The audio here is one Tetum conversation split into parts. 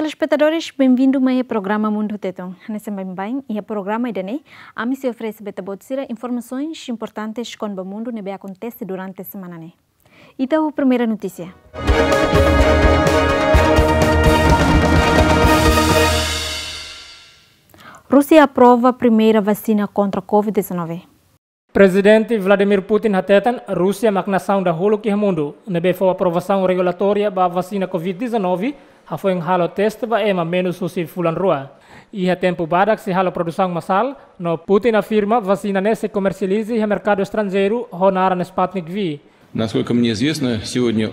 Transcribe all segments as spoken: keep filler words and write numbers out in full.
Telespetadores, benvindu mai iha programa Mundu Tetun. Hanesan baibain, iha programa ida-ne'e, ami sei oferese ba ita-boot sira informasoens importantes kona-ba mundu ne'ebé akontese durante semana ne'e. Ita ho primeira notísia. Rúsia aprova primeira vasina kontra covid dezanove. Prezidente Vladimir Putin hateten, Rúsia mak nasaun dahuluk iha mundu ne'ebé fó aprovasaun regulatória ba vasina covid dezanove, hafoin halo teste ba ema menus husi fulan rua. Iha tempu badak sei halo produsaun masál, no Putin afirma vasina ne'e sei komersializa iha merkadu estranjeiru ho naran Sputnik V. Насколько мне известно, сегодня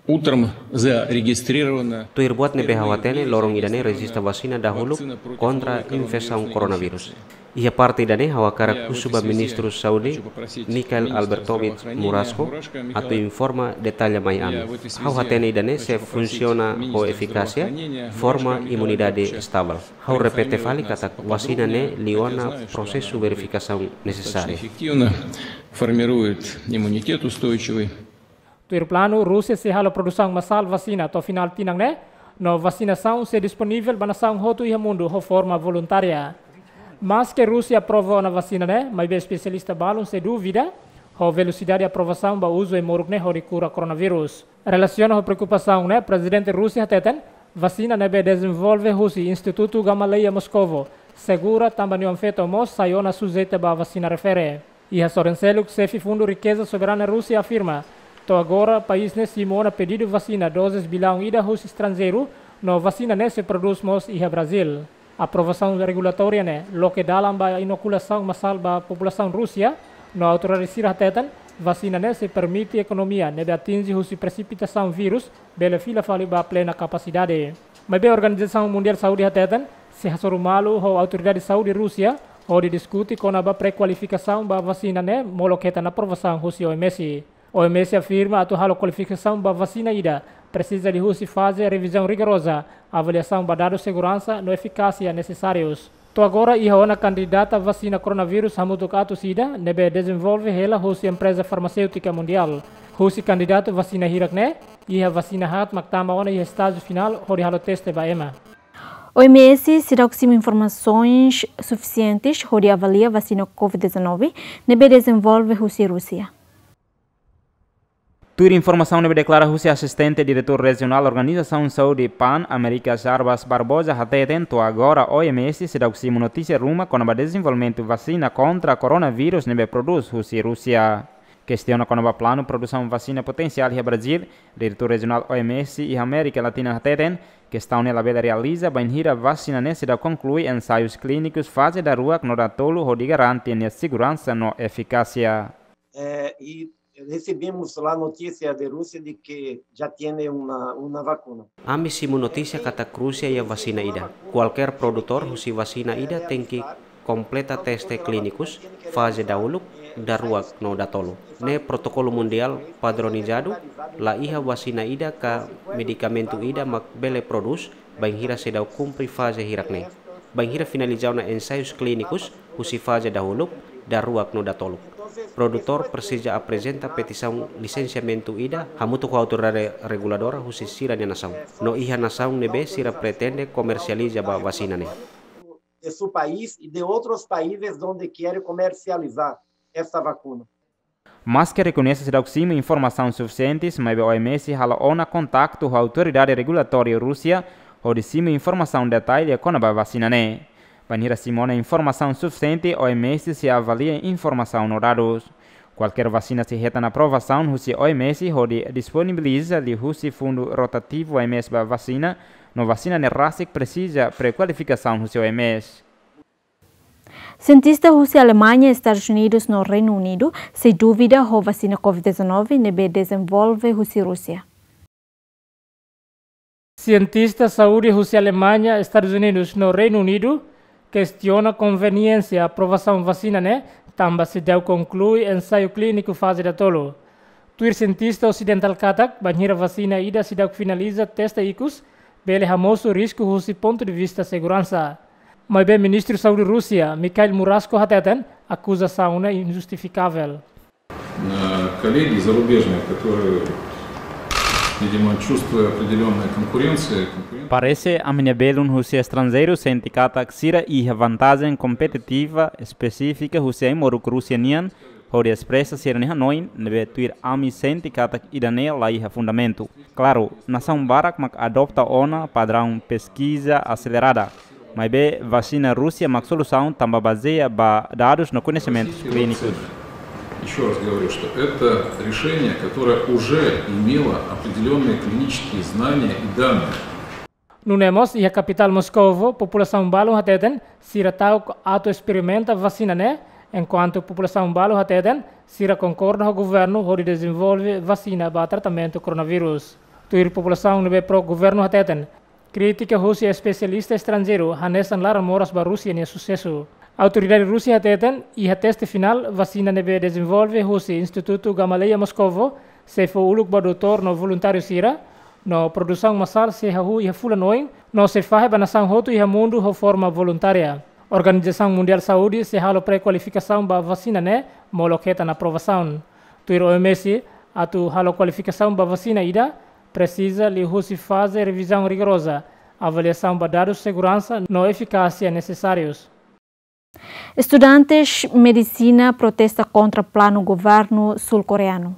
утром зарегистрировано. Tuir buat ne'ebé ha'u hatene, loron ida-ne'e rejista vasina dahuluk kontra infesaun koronavírus. Iha parte ida-ne'e ha'u hakarak husu ba Ministru Saúde, Mikhail Albertovich Murashko, atu informa detalla mai ami. Ha'u hatene ida-ne'e sei funsiona ho efikásia, forma imunidade estável. Ha'u repete fali katak vasina ne'e liu ona prosesu verifikasaun nesesáriu. Эффективно формирует иммунитет устойчивый. Tuir planu, Rúsia sei halo produsaun masál vasina to'o finál tinan ne'e, no vasinasaun sei disponivel ba nasaun hotu iha mundu ho forma voluntária. Maske Rúsia aprova ona vasina ne'e, maibé espesialista balun sei dúvida ho velosidade aprovasaun ba uzu ai-moruk ne'e hodi kura koronavírus. Relasiona ho preokupasaun ne'e, Prezidente Rúsia hateten, vasina ne'ebé dezenvolve husi Institutu Gamaleya Moskovo, segura tanba nia feto mós sai ona sujeita ba vasina refere. Iha sorin seluk, xefe Fundu Rikeza Soberana Rúsia afirma, to'o agora país ne'e simu ona pedidu vasina dozes bilaun ida husi estranjeiru, no vasina ne'e sei prodús mós iha Brazíl. Aprovasaun regulatória ne'e loke dalan ba inokulasaun masál ba populasaun Rúsia, no autoridade sira hateten, vasina ne'e sei permite ekonomia ne'ebé atinje husi presipitasaun vírus bele fila fali ba plena kapasidade. Maibé Organizasaun Mundiál Saúde hateten, sei hasoru malu ho autoridade saúde Rúsia hodi diskute kona-ba prekualifikasaun ba vasina ne'e molok hetan aprovasaun husi O M S. O M S afirma atu halo kualifikasaun ba vasina ida, presiza liuhusi faze revizaun rigoroza, avaliasaun ba dadus seguransa no efikásia nesesárius. To'o agora iha ona kandidata vasina koronavírus hamutuk atus ida ne'ebé dezenvolve hela husi empreza farmaséutika mundiál. Husi kandidatu vasina hirak ne'e, iha vasina haat mak tama ona iha estájiu finál hodi halo teste ba ema. O M S seidauk simu informasoens sufisientes hodi avalia vasina covid dezanove ne'ebé dezenvolve husi Rúsia. Tuir informasaun ne'ebé deklara husi asistente diretór rejionál Organizasaun Saúde PAN, Amérika Jarbas Barbosa hateten, to'o agora O M S seidauk simu notísia ruma kona-ba dezenvolvimentu vasina kontra koronavírus ne'ebé prodús husi Rúsia. Kestiona kona-ba planu produsaun vasina potensiál iha Brazíl, diretór rejionál O M S iha Amérika Latina hateten, kestaun ne'e labele realiza bainhira vasina ne'e seidauk konklui ensaius klínikus faze daruak no datolu hodi garante nia seguransa no efikásia. Eh, e recebemos lá notícia de Rússia de que já tiene uma, uma vacuna. Ami simu notísia katak Rúsia iha vasina ida. Kualkér produtór husi vasina ida tenke kompleta teste klínikus, faze dahuluk, daruak no datolu. Ne'e protokolu mundiál padronizadu, la iha vasina ida ka medikamentu ida mak bele prodús, bainhira seidauk kumpre faze hirak ne'e. Bainhira finaliza ona ensaius klínikus, husi faze dahuluk, daruak no datoluk. Produtór presiza aprezenta petisaun lisensiamentu ida hamutuk ho autoridade reguladora husi sira-nia nasaun. No iha nasaun ne'ebé sira pretende komersializa ba vasina ne'e. De su país y de otros países donde quiere comercializar esta vacuna. Maske rekoñese seidauk simu informasaun sufisientes, maibé O M S halo ona kontaktu ho autoridade regulatória Rúsia hodi simu informasaun detalle kona-ba vasina ne'e. Bainhira simu ona informasaun sufisiente, O M S sei avalia informasaun no dadus. Kualkér vasina sei hetan aprovasaun husi O M S hodi disponibiliza liuhusi fundu rotativu O M S ba vasina, no vasina ne'e rasik presiza prekualifikasaun husi O M S. Sientista husi Alemaña, Estadus Unidus no Reinu Unidu sei dúvida ho vasina covid dezanove ne'ebé dezenvolve husi Rúsia. Sientista saúde husi Alemaña, Estadus Unidus no Reinu Unidu kestiona konveniénsia aprovasaun vasina ne'e, tanba seidauk konklui ensaiu klíniku faze datolu. Tuir sientista osidentál katak, bainhira vasina ida seidauk finaliza teste ikus, bele hamosu risku husi pontu de vista seguransa. Maibé Ministru Saúde Rúsia, Mikhail Murashko hateten, akuzasaun ne'e injustifikável. Коллеги зарубежные, которые Видимо, чувствуя определённая конкуренция, конкуренция. Parese ami-nia belun husi estranjeiru sente katak sira iha vantajen kompetitiva espesífika husi ai-moruk Rúsia nian, hodi espresa sira-nia hanoin, ne'ebé tuir ami sente katak ida-ne'e la iha fundamentu. Klaru, nasaun barak mak adota ona padraun peskiza aselerada. Maibé vasina Rúsia mak solusaun tanba bazeia ba dadus no koñesimentus klínikus. Ещё раз говорю, что это решение, которое уже имело определённые клинические знания и данные. Nune'e mós, iha kapitál Moscovo, populasaun balu hateten, sira ta'uk atu esperimenta vasina ne'e, enkuantu populasaun balu hateten, sira konkorda ho governu hodi dezenvolve vasina ba tratamentu koronavírus. Tuir populasaun ne'ebé pro-governu hateten, krítika husi espesialista estranjeiru hanesan laran moras ba Rúsia nia susesu. Autoridade Rúsia hateten, iha teste finál, vasina ne'ebé dezenvolve husi Institutu Gamaleya Moscovo, sei fó uluk ba doutór no voluntáriu sira, no produsaun masál sei hahú iha fulan oin, no sei fahe ba nasaun hotu iha mundu ho forma voluntária. Organizasaun Mundiál Saúde sei halo pré-kualifikasaun ba vasina ne'e, molok hetan aprovasaun. Tuir O M S, atu halo kualifikasaun ba vasina ida, presiza liuhusi faze revizaun rigoroza, avaliasaun ba dadus seguransa no efikásia nesesárius. Estudantes medisina protesta kontra planu governu sul-koreanu.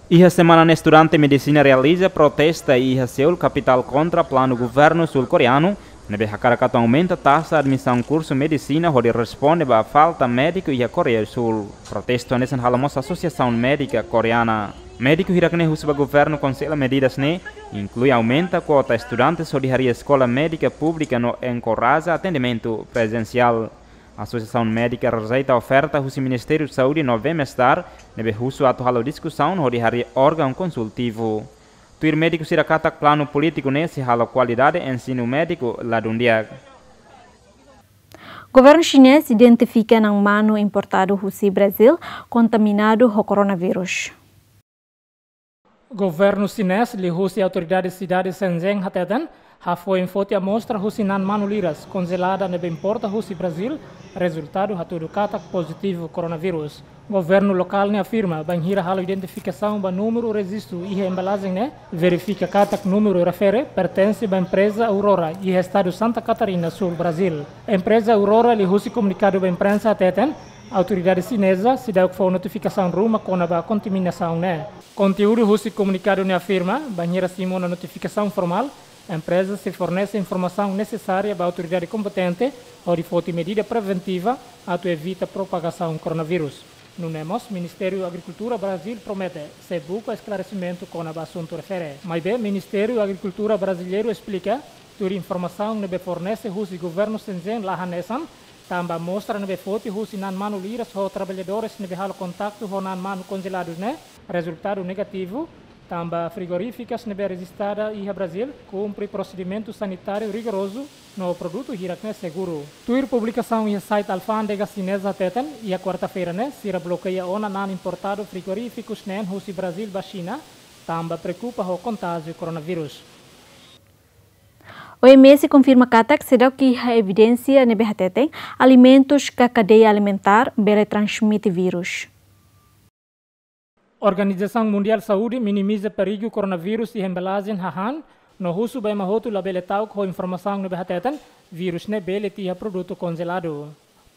Iha semana ne'e estudante medisina realiza protesta iha Seul, kapitál, kontra planu governu sul-koreanu, ne'ebé hakarak atu aumenta taxa admisaun kursu medisina hodi responde ba falta médiku iha Koreia Súl. Protestu hanesan halo mós Asosiasaun Médika Koreana. Médiku hirak-ne'e husu ba governu konsela medidas ne'e, inklui aumenta kuota estudantes hodi harii eskola médika públika no enkoraja atendimentu prezensiál. Asosiasaun Médika rejeita oferta husi Ministériu Saúde no bem-estar, ne'ebé husu atu halo diskusaun hodi harii órgaun konsultivu. Tuir médiku sira katak planu polítiku ne'e sei halo kualidade ensinu médiku ladún di'ak. Governu xinés identifika naan-manu importadu husi Brazíl kontaminadu ho koronavírus. Governu xinés liuhusi autoridade sidade Shenzhen hateten, hafoin foti amostra husi naan-manu liras konjelada ne'ebé importa husi Brazíl, rezultadu hatudu katak pozitivu koronavírus. Governu lokál ne'e afirma, bainhira halo identifikasaun ba númeru rejistu iha embalajen ne'e, verifika katak númeru refere pertense ba empreza Aurora iha estadu Santa Catarina Sul, Brazíl. Empreza Aurora liuhusi komunikadu ba imprensa hateten, autoridade xineza seidauk fó notifikasaun ruma kona-ba kontaminasaun ne'e. Konteúdu husi komunikadu ne'e afirma, bainhira simu ona notifikasaun formál, empreza sei fornese informasaun nesesária ba autoridade kompetente hodi foti medida preventiva atu evita propagasaun koronavírus. Nune'e mós, Ministériu Agrikultura Brazíl promete sei buka esklaresimentu kona-ba asuntu refere. Maibé, Ministériu Agrikultura Braziliaru esplika, tuir informasaun ne'ebé fornese husi governu Shenzhen la hanesan, tanba amostra ne'ebé foti husi naan-manu liras ho traballadores ne'ebé halo kontaktu ho naan-manu konjeladu ne'e, rezultadu negativu, tanba frigorífikas ne'ebé rejistada iha Brazíl kumpre prosedimentu sanitáriu rigorozu no produtu hirak-ne'e seguru. Tuir publikasaun iha site alfándega xineza hateten, iha kuarta-feira ne'e, sira blokeia ona naan importadu frigorífikus neen husi Brazíl ba Xina, tanba preokupa ho kontájiu koronavírus. O M S konfirma katak seidauk iha evidénsia ne'ebé hateten alimentus ka kadeia alimentár bele transmite vírus. Organizasaun Mundiál Saúde minimiza perigu koronavírus iha embalajen hahán, no husu ba ema hotu labele ta'uk ho informasaun ne'ebé hateten vírus ne'e bele tiha produtu konjeladu.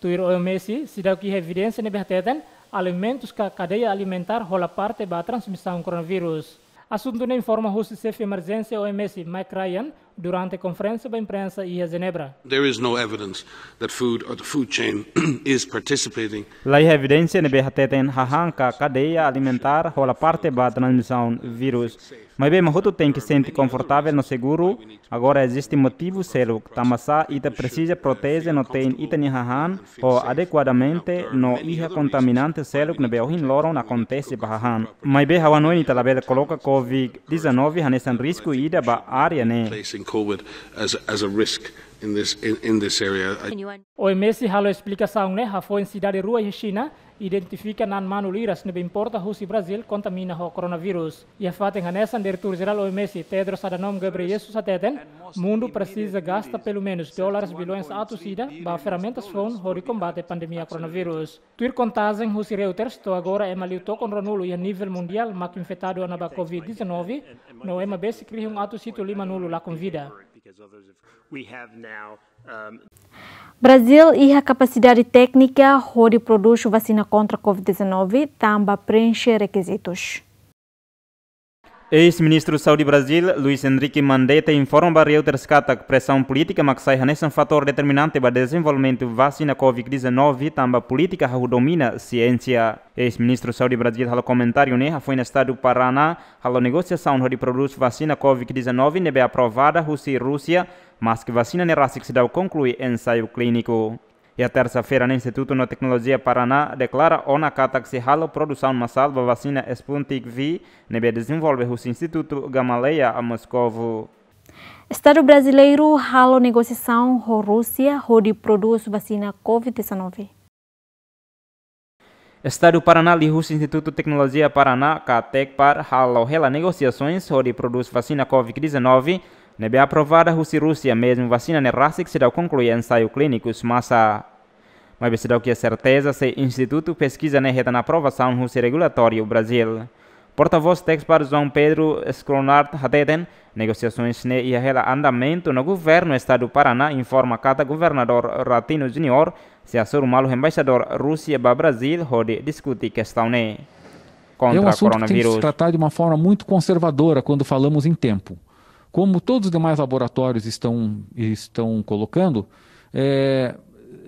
Tuir O M S, seidauk iha evidénsia ne'ebé hateten alimentus ka kadeia alimentár hola parte ba transmisaun koronavírus. Asuntu ne'e informa husi xefe emerjénsia O M S, Mike Ryan, durante konferénsia ba imprensa iha Jenebra. There is no evidence that food or the food chain is participating. La iha evidénsia ne'ebé hateten hahán ka kadeia alimentár hola parte ba transmisaun vírus. Maibé ema hotu tenke sente konfortavel no seguru, agora eziste motivu seluk, tanbasá ita presiza proteje no tein ita-nia hahán ho adekuadamente no iha kontaminante seluk ne'ebé ohin loron akontese ba hahán. Maibé ha'u hanoin ita labele koloka covid dezanove hanesan risku ida ba área ne'e. Placing covid as, as a risk in this, in, in this area. I O M S halo esplikasaun ne'e hafoin sidade rua iha Xina Identifika na'an manu liras ne'ebé importa husi Brazíl kontamina ho koronavírus. Iha fatin hanesan, Diretór Jerál O M S, Tedros Adhanom Ghebreyesus hateten, mundu presiza gasta pelumenus dólares bilhões atus ida ba ferramentas foun hodi kombate pandemia koronavírus. Tuir kontajen husi Reuters, to'o agora ema liu tokon ruanulu iha nivel mundiál mak infetadu ona ba covid dezanove, no ema besik rihun atus hitu limanulu lakon vida. We have now, um, Brazíl iha kapasidade téknika hodi prodús vasina kontra covid dezanove, tanba preenxe rekizitus. Eis-Ministru Saúde Brazíl, Luiz Henrique Mandetta, informa ba Reuters katak presaun polítika mak sai hanesan fatór determinante ba dezenvolvimentu vasina covid dezanove, tanba polítika hahú domina siénsia. Eis-Ministru Saúde Brazíl halo komentáriu ne'e hafoin estadu Paraná halo negosiasaun hodi prodús vasina covid dezanove ne'ebé aprovada husi Rúsia, maske vasina ne'e rasik seidauk konklui ensaiu klíniku. Iha tersa-feira ne'e, Institutu no Teknolojia Paraná deklara ona katak sei halo produsaun masál ba vasina Sputnik V ne'ebé dezenvolve husi Institutu Gamaleya, Moscovo. Estadu brasileiru halo negosiasaun ho Rúsia hodi prodús vasina covid dezanove. Estadu Paraná liuhusi Institutu Teknolojia Paraná, ka Tekpar, halo hela negosiasoens hodi prodús vasina covid dezanove ne'ebé aprovada husi Rúsia, mezmu vasina ne'e rasik seidauk konklui ensaiu klínikus masa. Maibé seidauk iha serteza se institutu peskiza ne'e hetan aprovasaun husi regulatóriu Brazíl. Portavós Tekpar, João Pedro Scronard, hateten, negosiasoens ne'e iha hela andamentu no governu estadu Paraná informa katak governadór Ratinho Júnior sei hasoru malu embaixadór Rúsia ba Brazíl hodi diskute kestaun ne'e. É um assunto que tem que se tratar de uma forma muito conservadora quando falamos em tempo. Como todos os demais laboratórios estão, estão colocando, é,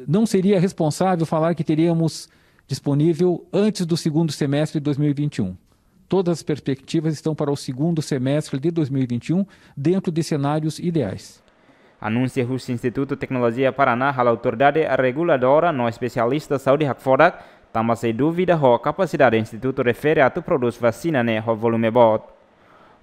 não seria responsável falar que teríamos disponível antes do segundo semestre de dois mil e vinte e um. Todas as perspectivas estão para o segundo semestre de dois mil e vinte e um, dentro de cenários ideais. Anúnsiu husi Institutu Teknolojia Paraná halo autoridade reguladora no espesialista saúde hakfodak, tanba sei dúvida ho kapasidade institutu refere atu prodús vasina ne'e ho volume boot.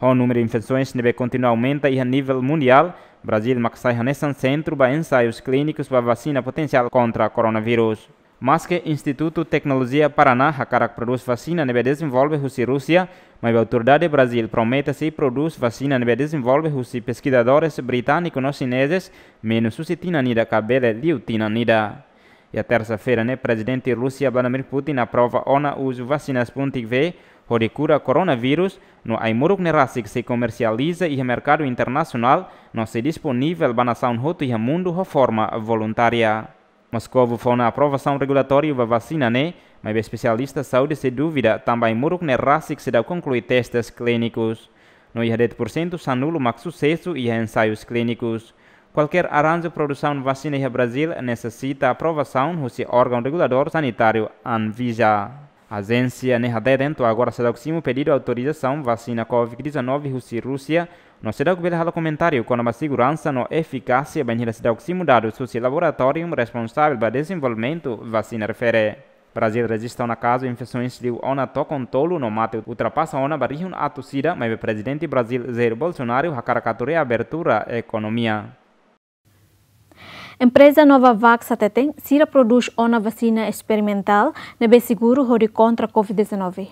Ho númeru infesoens ne'ebé kontinua aumenta iha nivel mundiál, Brazíl mak sai hanesan sentru ba ensaius klínikus ba vasina potensiál kontra koronavírus. Maske Institutu Teknolojia Paraná hakarak prodús vasina ne'ebé dezenvolve husi Rúsia, maibé autoridade Brazíl promete sei prodús vasina ne'ebé dezenvolve husi peskizadores britániku no xinezes, menus husi tinan ida ka bele liu tinan ida. Iha tersa-feira ne'e, Prezidente Rúsia Vladimir Putin aprova ona uzu vasina Sputnik V hodi kura koronavírus, no ai-moruk ne'e rasik sei komersializa iha merkadu internasionál, no sei disponivel ba nasaun hotu iha mundu ho forma voluntária. Moscovo fó ona aprovasaun regulatóriu ba vasina ne'e, maibé espesialista saúde sei dúvida tanba ai-moruk ne'e rasik seidauk konklui testes klínikus. No iha de'it pursentu sanulu mak susesu iha ensaius klínikus. Kualkér arranju produsaun vasina iha Brazíl nesesita aprovasaun husi órgaun reguladór sanitáriu Anvisa. Ajénsia ne'e hateten to'o agora seidauk simu pedidu autorizasaun vasina covid dezanove husi Rúsia, no seidauk bele halo komentáriu kona-ba seguransa no efikásia, bainhira seidauk simu dadus husi laboratóriu responsavel ba dezenvolvimentu vasina refere. Brazíl rejista ona kazu infesoens liu ona tokon tolu no mate ultrapasa ona ba rihun atus ida, maibé Prezidente Brazíl Jair Bolsonaro hakarak atu reabertura ekonomia. Empreza Novavax hateten, sira prodús ona vasina esperimentál ne'ebé seguru hodi kontra covid dezanove.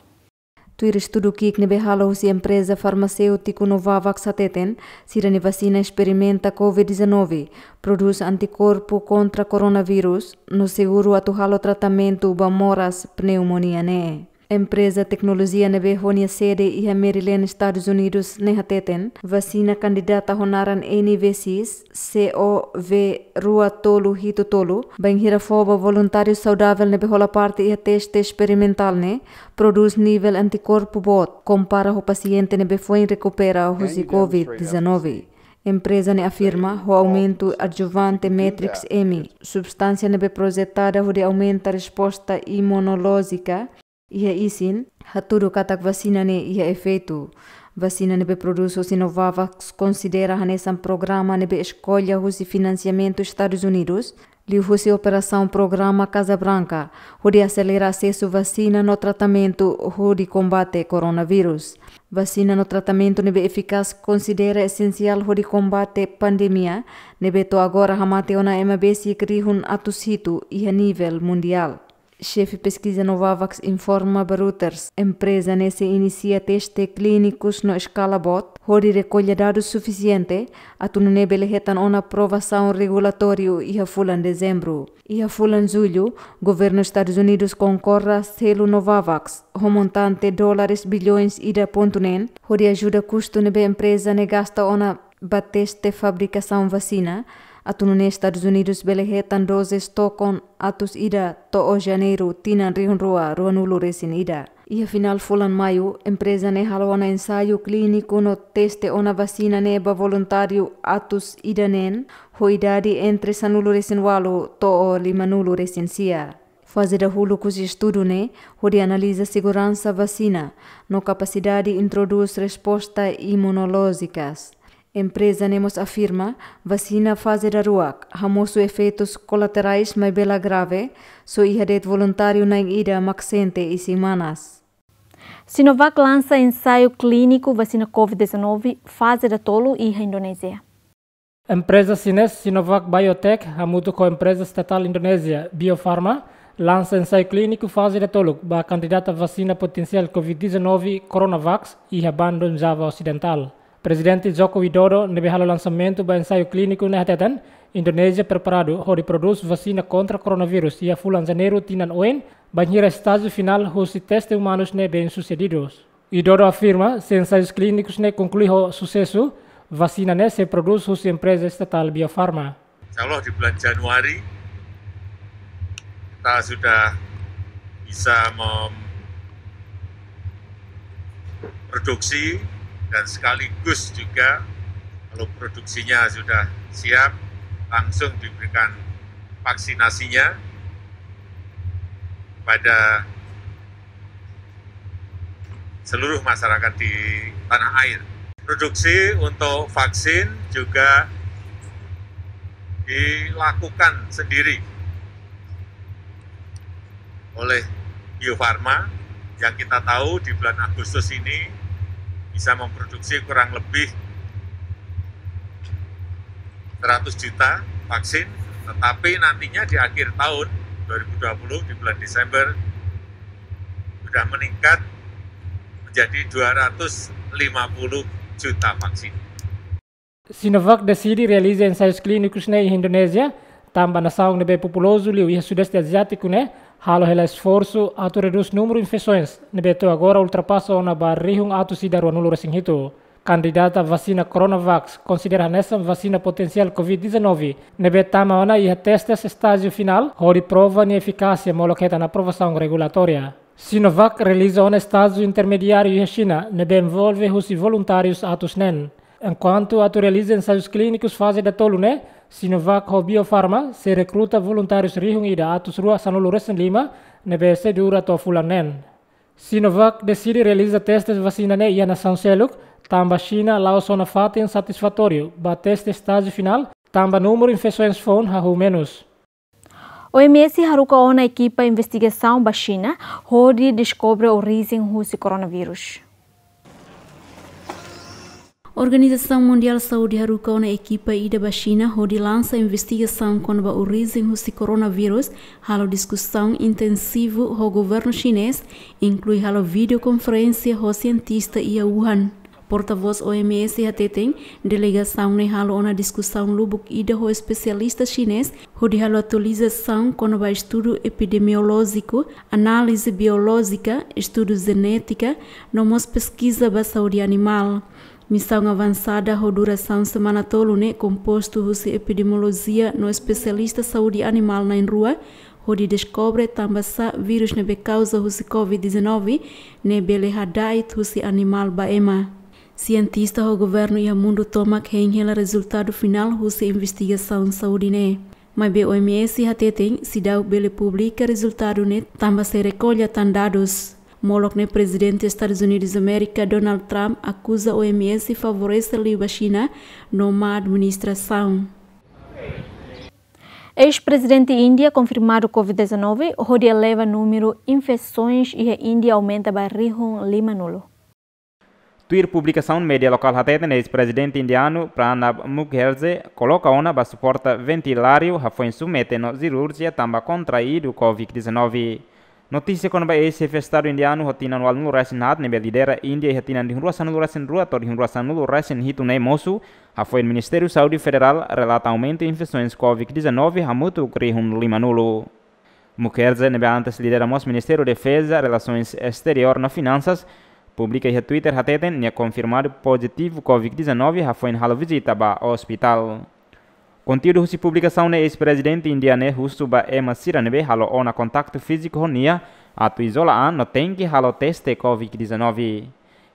Tuir estudu ki'ik ne'ebé halo husi empreza farmaséutiku Novavax hateten, sira-nia vasina esperimenta covid dezanove prodús antikorpu kontra koronavírus, no seguru atu halo tratamentu ba moras pneumonia ne'e. Empreza teknolojia ne'ebé ho nia sede iha Maryland, Estadus Unidus ne'e hateten, vasina kandidata ho naran N V X, C O V rua tolu hitu tolu, bainhira fó ba voluntáriu saudavel ne'ebé hola parte iha teste esperimentál ne'e, prodús nivel antikorpu boot, kompara ho pasiente ne'ebé foin rekupera husi covid dezanove. Empreza ne'e afirma, ho aumentu adjuvante Matrix-M, substánsia ne'ebé projetada hodi aumenta resposta imunolójika iha isin, hatudu katak vasina ne'e iha efeitu. Vasina ne'ebé prodús husi Novavax konsidera hanesan programa ne'ebé eskolla husi finansiamentu Estadus Unidus, liuhusi operasaun programa Casa Branca, hodi aselera asesu vasina no tratamentu hodi kombate koronavírus. Vasina no tratamentu ne'ebé efikás konsidera esensiál hodi kombate pandemia ne'ebé to'o agora hamate ona ema besik rihun atus hitu iha nivel mundiál. Xefe peskiza Novavax informa ba Reuters, empreza ne'e sei inisia teste klínikus no eskala boot, hodi rekolla dadus sufisiente, atu nune'e bele hetan ona aprovasaun regulatóriu iha fulan Dezembru. Iha fulan Jullu, governu Estadus Unidus konkorda selu Novavax, ho montante dólares bilhões ida pontu neen, hodi ajuda kustu ne'ebé empreza ne'e gasta ona ba teste fabrikasaun vasina, atu nune'e Estadus Unidus bele hetan dozes tokon atus ida to'o Janeiru tinan rihun rua ruanulu resin ida. Iha finál fulan Maiu, empreza ne'e halo ona ensaiu klíniku no teste ona vasina ne'e ba voluntáriu atus ida neen, ho idade entre sanulu resin ualu to'o limanulu resin sia. Faze dahuluk husi estudu ne'e, hodi analiza seguransa vasina, no kapasidade introdús resposta imunolójikas. Empreza ne'e mós afirma, vasina faze daruak, hamosu efeitus kolaterais maibé la grave, só iha de'it voluntáriu na'in ida mak sente isin manas. Sinovac lansa ensaiu klíniku vasina covid dezanove faze datolu iha Indonézia. Empreza xinés Sinovac Biotech hamutuk ho empreza estatál Indonézia Bio Farma lansa ensaiu klíniku faze datoluk ba kandidata vasina potensiál covid dezanove Coronavac iha Bandung, Java Osidentál. Prezidente Joko Widodo ne'ebé halo lansamentu ba ensaiu klíniku ne'e hateten, Indonézia preparadu hodi prodús vasina kontra koronavírus iha fulan Janeiru tinan oin, bainhira estájiu finál husi teste umanus ne'e bem-sucedidu. Widodo afirma, se ensaius klínikus ne'e konklui ho susesu, vasina ne'e sei prodús husi empreza estatál Bio Farma. Insya Allah di bulan Januari kita sudah bisa memproduksi dan sekaligus juga kalau produksinya sudah siap, langsung diberikan vaksinasinya pada seluruh masyarakat di tanah air. Produksi untuk vaksin juga dilakukan sendiri oleh Bio Farma, yang kita tahu di bulan Agustus ini bisa memproduksi kurang lebih seratus juta vaksin, tetapi nantinya di akhir tahun dua ribu dua puluh, di bulan Desember, sudah meningkat menjadi dua ratus lima puluh juta vaksin. Sinovac deside realiza ensaius klínikus ne'e iha Indonézia, tanba nasaun ne'ebé populozu liu iha Sudeste Aziátiku ne'e halo hela esforsu atu redús númeru infesoens ne'ebé to'o agora ultrapasa ona ba rihun atus ida ruanulu resin hitu. Kandidata vasina Coronavac konsidera hanesan vasina potensiál covid dezanove ne'ebé tama ona iha testes estájiu finál hodi prova nia efikásia molok hetan aprovasaun regulatória. Sinovac realiza ona estájiu intermediáriu iha Xina ne'ebé envolve husi voluntárius atus neen. Enkuantu atu realiza ensaius klínikus faze datolu ne'e, Sinovac ho Bio Farma sei rekruta voluntárius rihun ida atus rua sanulu resin lima ne'ebé sei dura to'o fulan neen. Sinovac deside realiza testes vasina ne'e iha nasaun seluk, tanba Xina la'ós ona fatin satisfatóriu ba teste estájiu finál, tanba númeru infesoens foun hahú menus. O M S haruka ona ekipa investigasaun ba Xina, hodi deskobre orijen husi koronavírus. Organizasaun Mundiál Saúde haruka ona ekipa ida ba Xina hodi lansa investigasaun kona-ba orijen husi koronavírus, halo diskusaun intensivu ho governu xinés, inklui halo videokonferénsia ho sientista iha Wuhan. Portavós O M S hateten, delegasaun ne'e halo ona diskusaun lubuk ida ho espesialista xinés, hodi halo atualizasaun kona-ba estudu epidemiolójiku, análize biolójika, estudu jenétika, no mós peskiza ba saúde animál. Misaun avansada ho durasaun semana tolu ne'e kompostu husi epidemiolojia no espesialista saúde animál na'in rua, hodi deskobre tanbasá vírus ne'ebé kauza husi covid dezanove ne'e bele hada'et husi animál ba ema. Sientista ho governu iha mundu tomak hein hela rezultadu finál husi investigasaun saúde ne'e. Maibé O M S hateten seidauk bele publika rezultadu ne'e tanba sei rekolla tan dadus. Molok ne'e Prezidente Estadus Unidus Amérika Donald Trump akuza O M S favorese liu ba Xina no má administrasaun. Eis-prezidente Índia konfirmadu covid dezanove, hodi eleva númeru infesoens iha Índia aumenta ba rihun limanulu. Tuir publikasaun media lokál hateten, eis-prezidente indianu Pranab Mukherjee koloka ona ba suporta ventiláriu hafoin submete no sirurjia tanba kontraidu covid dezanove. Notísia kona-ba eis-xefe Estadu indianu ho tinan ualunulu resin haat ne'ebé lidera Índia iha tinan rihun rua sanulu resin rua to'o rihun rua sanulu resin hitu ne'e mosu, hafoin Ministériu Saúde Federál relata aumentu infesoens covid dezanove hamutuk rihun limanulu. Mukherjee ne'ebé antes lidera mós Ministériu Defeza, Relasoens Esteriór no Finansas, publika iha Twitter hateten nia konfirmadu pozitivu covid dezanove hafoin halo vizita ba ospitál. Konteúdu husi publikasaun ne'e, eis-prezidente Índia ne'e husu ba ema sira ne'ebé halo ona kontaktu fíziku ho nia atu izola an no tenke halo teste covid dezanove.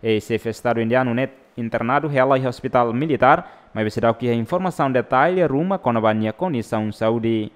Eis-xefe Estadu indianu ne'e internadu hela iha ospitál militár, maibé seidauk iha informasaun detalle ruma kona-ba nia kondisaun saúde.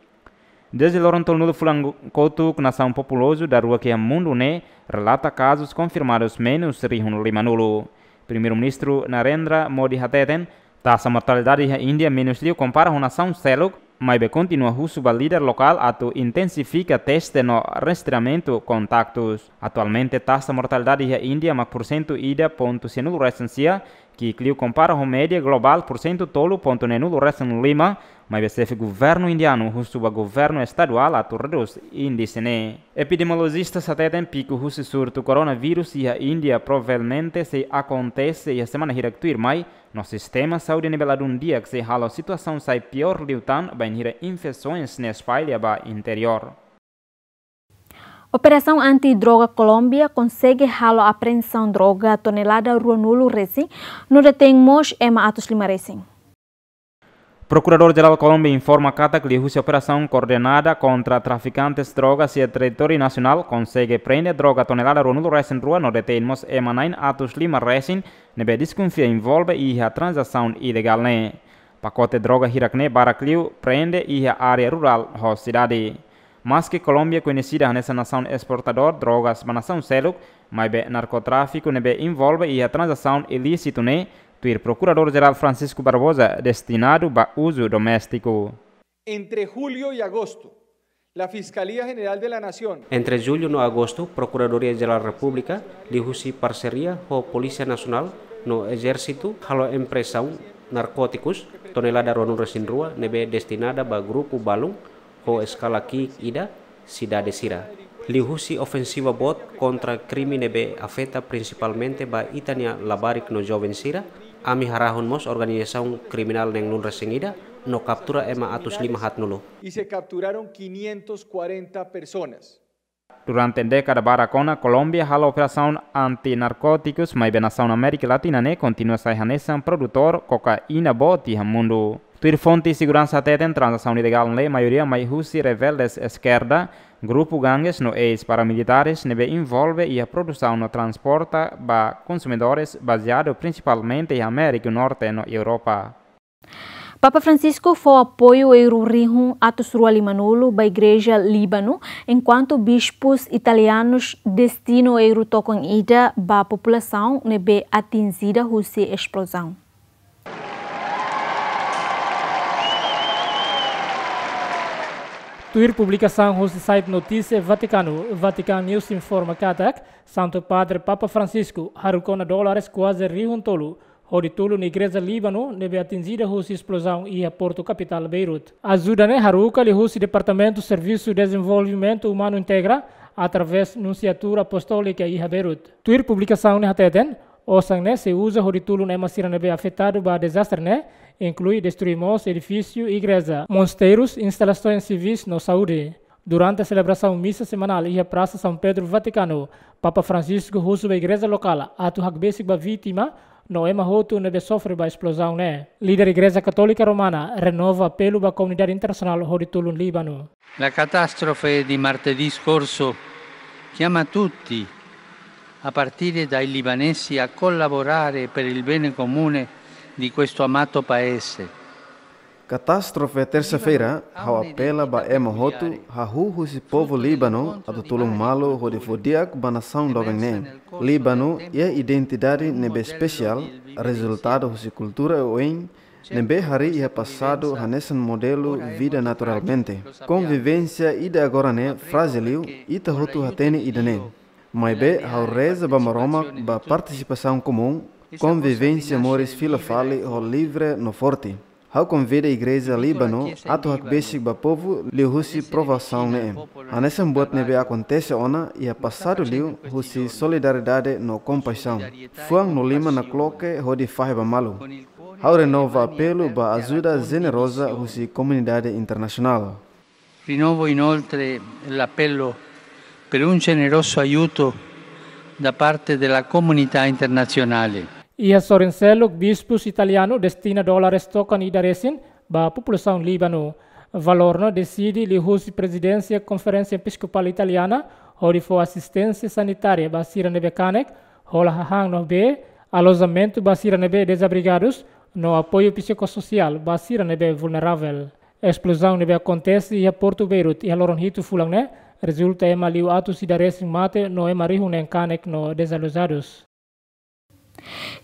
Dezde loron tolunulu fulan kotuk, nasaun populozu daruak iha mundu ne'e relata kazus konfirmadus menus rihun limanulu. Primeiru-Ministru Narendra Modi hateten, taxa mortalidade iha Índia menus liu kompara ho nasaun seluk, maibé kontinua husu ba líder lokál atu intensifika teste no rastreamentu kontaktus. Atualmente, taxa mortalidade iha Índia mak pursentu ida pontu sianulu resin sia, ki'ik liu kompara ho média globál pursentu tolu pontu neenulu resin lima, maibé xefe governu indianu husu ba governu estaduál atu redús índise ne'e. Epidemiolojista hateten piku husi surtu koronavírus iha Índia provavelmente sei akontese iha semana hirak tuirmai, no sistema saúde ne'ebé ladún di'ak sei halo situasaun sai piór liután bainhira infesoens ne'e espalla ba interiór. Operasaun anti-droga Kolómbia konsege halo apreensaun droga tonelada ruanulu resin, no detein mós ema atus lima resin. Prokuradór-Jerál Kolómbia informa katak liuhusi operasaun koordenada kontra trafikantes drogas iha territóriu nasionál konsege prende droga tonelada ruanulu resin rua no detein mós ema na'in atus lima resin ne'ebé deskonfia envolve iha tranzasaun ilegál ne'e. Pakote droga hirak ne'e barak liu prende iha área rurál ho sidade. Maske Kolómbia koñesida hanesan nasaun esportadór drogas ba nasaun seluk, maibé narkotráfiku ne'ebé envolve iha tranzasaun ilísitu ne'e, tuir Prokuradór-Jerál Francisco Barbosa, destinadu ba uzu doméstiku. Entre julio y agosto, la Fiscalía General de la Nación. Entre jullu no agostu, Prokuradoria Jerál Repúblika, liuhusi parseria ho Polísia Nasionál no Ezérsitu, halo apreensaun narkótikus tonelada ruanulu resin rua ne'ebé destinada ba grupu balun ho eskala ki'ik ida sidade sira. Liuhusi ofensiva boot kontra krime ne'ebé afeta prinsipalmente ba ita-nia labarik no joven sira, ami harahun mós organizasaun kriminál neenulu resin ida no kaptura ema atus lima haatnulu. Y se capturaron quinientas cuarenta personas. Durante dékada barak ona, Kolómbia halo operasaun anti-narkótikus, maibé nasaun Amérika Latina ne'e kontinua sai hanesan produtór kokaina boot iha mundu. Tuir fonte seguransa hateten, tranzasaun ilegál ne'e maioria mai husi rebeldes eskerda, grupu gangues no eis-paramilitares ne'ebé envolve iha produsaun no transporta ba konsumidores bazeadu prinsipalmente iha Amérika Norte no Europa. Papa Francisco fó apoiu euro rihun atus rua limanulu ba Igreja Líbanu, enkuantu bispus italianus destina euro tokon ida ba populasaun ne'ebé atinjida husi esplozaun. Tuir publikasaun husi site notísia Vatikanu, Vatican News informa katak Santu Padre Papa Francisco haruka ona dólares kuaze rihun tolu hodi tulun Igreja Líbanu ne'ebé atinjida husi esplozaun iha Portu kapitál Beirut. Ajuda ne'e haruka liuhusi Departamentu Servisu Dezenvolvimentu Umanu Integra, através Nunsiatura Apostólika iha Beirut. Tuir publikasaun ne'e hateten, osan ne'e sei uza hodi tulun ema sira ne'ebé afetadu ba dezastre ne'e, inklui destrui mós edifísiu igreja, mosteirus, instalasoens sivis no saúde. Durante selebrasaun misa semanál iha Prasa São Pedro, Vatikanu, Papa Francisco husu ba igreja lokál atu hakbesik ba vítima no ema hotu ne'ebé sofre ba esplozaun ne'e. Líder Igreja Katólika Romana renova apelu ba komunidade internasionál hodi tulun Líbanu. La catastrofe di martedì scorso chiama tutti, a partire dai libanesi, a collaborare per il bene comune di questo amato paese. Katástrofe tersa-feira ha'u apela ba ema hotu hahú husi povu Líbanu atu tulun malu hodi fó di'ak ba nasaun doben ne'e. Líbanu iha identidade ne'ebé espesiál, rezultadu husi kultura oioin ne'ebé harii iha pasadu hanesan modelu vida naturalmente. Konvivénsia ida agora ne'e frájil liu, ita hotu hatene ida-ne'e. Maibé ha'u reza ba Maromak ba partisipasaun komún, Konvivénsia moris fila fali ho livre no forte. Ha'u konvida Igreja Líbanu atu hakbesik ba povu liuhusi provasaun ne'e. Hanesan buat ne'ebé akontese ona iha pasadu liu husi solidariedade no kompaixaun. Fuan no liman nakloke hodi fahe ba malu. Ha'u renova apelu ba ajuda jeneroza husi komunidade internasionál. Rinnovo inoltre l'appello per un generoso aiuto da parte della comunità internazionale. Iha sorin seluk, bispus italianu destina dólares tokan ida resin ba populasaun Líbanu. Valór ne'e deside liuhusi Prezidénsia Konferénsia Episkopál Italiana hodi fó asisténsia sanitária ba sira ne'ebé kanek, hola hahán no bee, alojamentu ba sira ne'ebé dezabrigadus, no apoiu psikososiál ba sira ne'ebé vulneravel. Esplozaun ne'ebé akontese iha portu Beirut iha loron hitu fulan ne'e rezulta ema liu atus ida resin mate no ema rihun neen kanek no dezalojadus.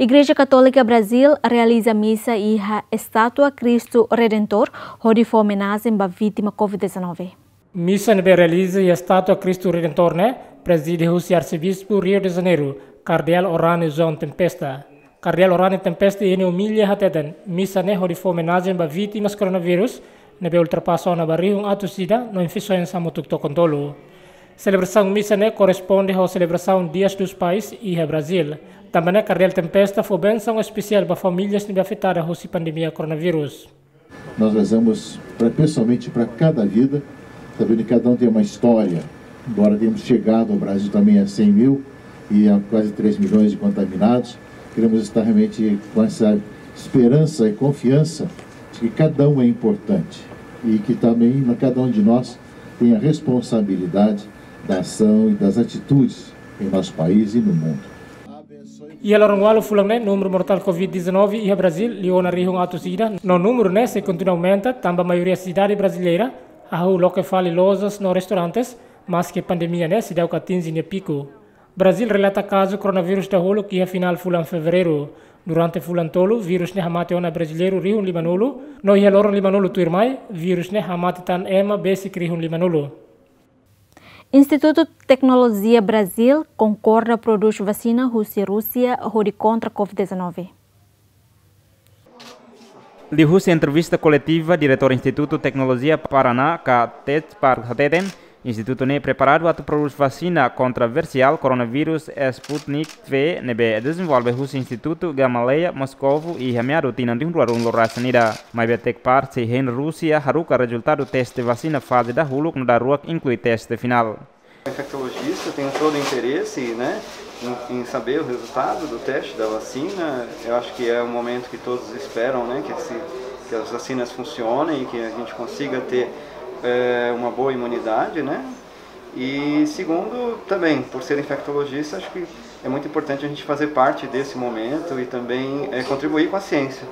Igreja Katólika Brazil realiza misa iha estátua Kristu Redentór hodi fó omenajen ba vítima covid dezanove. Misa ne'ebé realiza iha estátua Kristu Redentór ne'e prezide husi Arsebispu Rio de Janeiro, Kardeál Orânio João Tempesta. Kardeál Orânio Tempesta iha nia omília hateten, misa ne'e hodi fó omenajen ba vítimas koronavírus ne'ebé ultrapasa ona ba rihun atus ida no infesoens hamutuk tokon tolu. Selebrasaun misa ne'e korresponde ho selebrasaun Dias dos Pais iha Brazil. Tanba ne'e Kardeál Tempesta fó bensaun espesiál ba famílias ne'ebé afetada husi pandemia koronavírus. Nós rezamos pra, pessoalmente para cada vida, sabendo que cada um tem uma história. Embora tenhamos chegado ao Brasil também a cem mil e a quase três milhões de contaminados, queremos estar realmente com essa esperança e confiança de que cada um é importante e que também cada um de nós tem a responsabilidade da ação e das atitudes em nosso país e no mundo. Iha loron ualu fulan ne'e, númeru mortál covid dezanove iha Brazil liu ona rihun atus ida, no númeru ne'e sei kontinua aumenta, tanba maioria sidade brasileira hahú loke fali lojas no restaurantes, maske pandemia ne'e seidauk atinje nia piku. Brazil relata kazu koronavírus dahuluk iha final fulan Fevereiru. Durante fulan tolu, vírus ne'e hamate ona brasileiru rihun limanulu, no iha loron limanulu tuirmai, vírus ne'e hamate tan ema besik rihun limanulu. Institutu Teknolojia Brazil konkorda prodús vasina husi Rúsia hodi kontra covid dezanove. Liuhusi entrevista koletiva, Diretór Institutu Teknolojia Paraná, ka TETPAR, hateten, institutu ne'e preparadu atu prodús vasina kontra versiál koronavírus Sputnik V ne'ebé dezenvolve husi Institutu Gamaleya Moscovo iha meadu tinan rihun rua ruanulu-resin-ida. Maibé TETPAR sei hein Rúsia haruka rezultadu teste vasina faze dahuluk no daruak inklui teste finál. O infectologista tem todo o interesse, né, em, em saber o resultado do teste da vacina. Eu acho que é um momento que todos esperam, né, que, esse, que as vacinas funcionem e que a gente consiga ter é, uma boa imunidade, né? E segundo, também, por ser infectologista, acho que é muito importante a gente fazer parte desse momento e também é, contribuir com a ciência.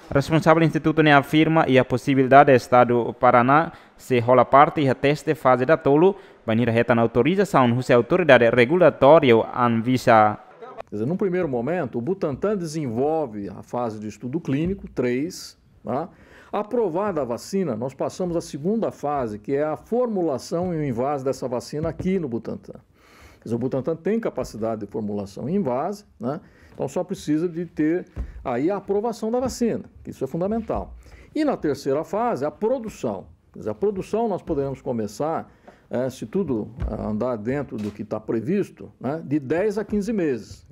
Responsavel institutu ne'e afirma iha posibilidade Estadu Paraná sei hola parte iha teste faze datolu, bainhira hetan autorizasaun husi autoridade regulatóriu Anvisa. Quer dizer, num primeiro momento, o Butantan desenvolve a fase de estudo clínico três, tá? Aprovada a vacina, nós passamos à segunda fase, que é a formulação e o envase dessa vacina aqui no Butantan. Quer dizer, o Butantan tem capacidade de formulação em envase, né? Então só precisa de ter aí a aprovação da vacina, que isso é fundamental. E na terceira fase, a produção. Quer dizer, a produção nós poderemos começar, é, se tudo andar dentro do que está previsto, né, de dez a quinze meses.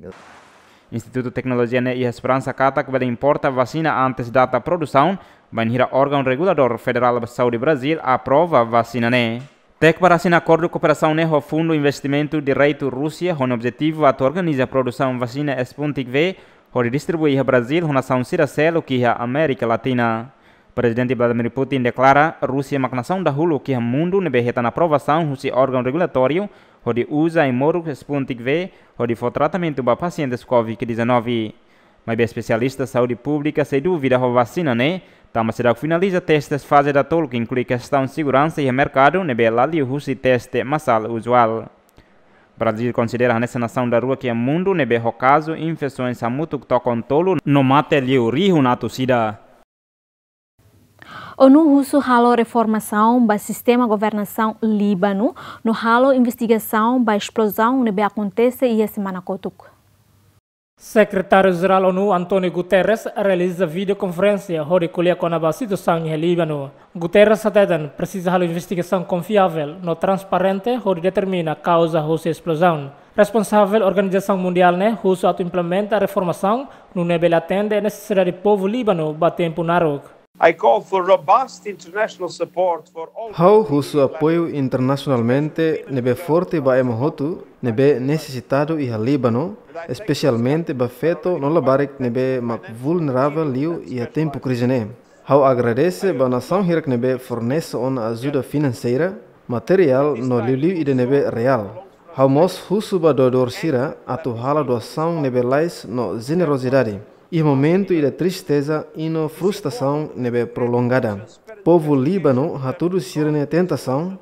Institutu Teknolojia ne'e iha esperansa katak bele importa vasina antes data produsaun, bainhira órgaun reguladór federál saúde Brazil aprova vasina ne'e. TETPAR asina akordu kooperasaun ne'e ho Fundu Investimentu Direitu Rúsia, ho nia objetivu atu organiza produsaun vasina Sputnik V, hodi distribui iha Brazil ho nasaun sira seluk iha Amérika Latina. Prezidente Vladimir Putin deklara, Rúsia mak nasaun dahuluk iha mundu ne'ebé hetan aprovasaun husi órgaun regulatóriu, hodi uza ai-moruk Sputnik V, hodi fó tratamentu ba pasientes covid dezanove. Maibé espesialista saúde públika sei dúvida ho vasina ne'e, tanba seidauk finaliza testes faze datolu, inklui kestaun seguransa iha merkadu ne'ebé la liuhusi teste masál uzuál. Brazil konsidera hanesan nasaun daruak iha mundu ne'ebé ho kazu infesoens hamutuk tokon tolu no mate liu rihun atus ida. ONU husu halo reformasaun ba sistema governasaun Líbanu no halo investigasaun ba esplozaun ne'ebé akontese iha semana kotuk. Sekretáriu-Jerál ONU, António Guterres, realiza videokonferénsia hodi ko'alia kona-ba situasaun iha Líbanu. Guterres hateten presiza halo investigasaun konfiavel no transparente hodi determina kauza husi esplozaun. Responsavel organizasaun mundiál ne'e husu atu implementa reformasaun nune'e bele atende nesesidade povu Líbanu ba tempu naruk. I call for robust international support for all. Ha'u husu apoiu internasionalmente ne'ebé forte ba ema hotu ne'ebé nesesitadu iha Líbanu, espesialmente ba feto no labarik ne'ebé mak vulneravel liu iha tempu krize ne'e. Ha'u agradese ba nasaun hirak ne'ebé fornese ona ajuda finanseira, materiál no liuliu ida ne'ebé reál. Ha'u mós husu ba doadór sira atu halo doasaun ne'ebé lalais no jenerozidade iha momentu ida tristeza i no frustrasaun ne'ebé prolongada. Povu Líbanu hatudu sira-nia tentasaun,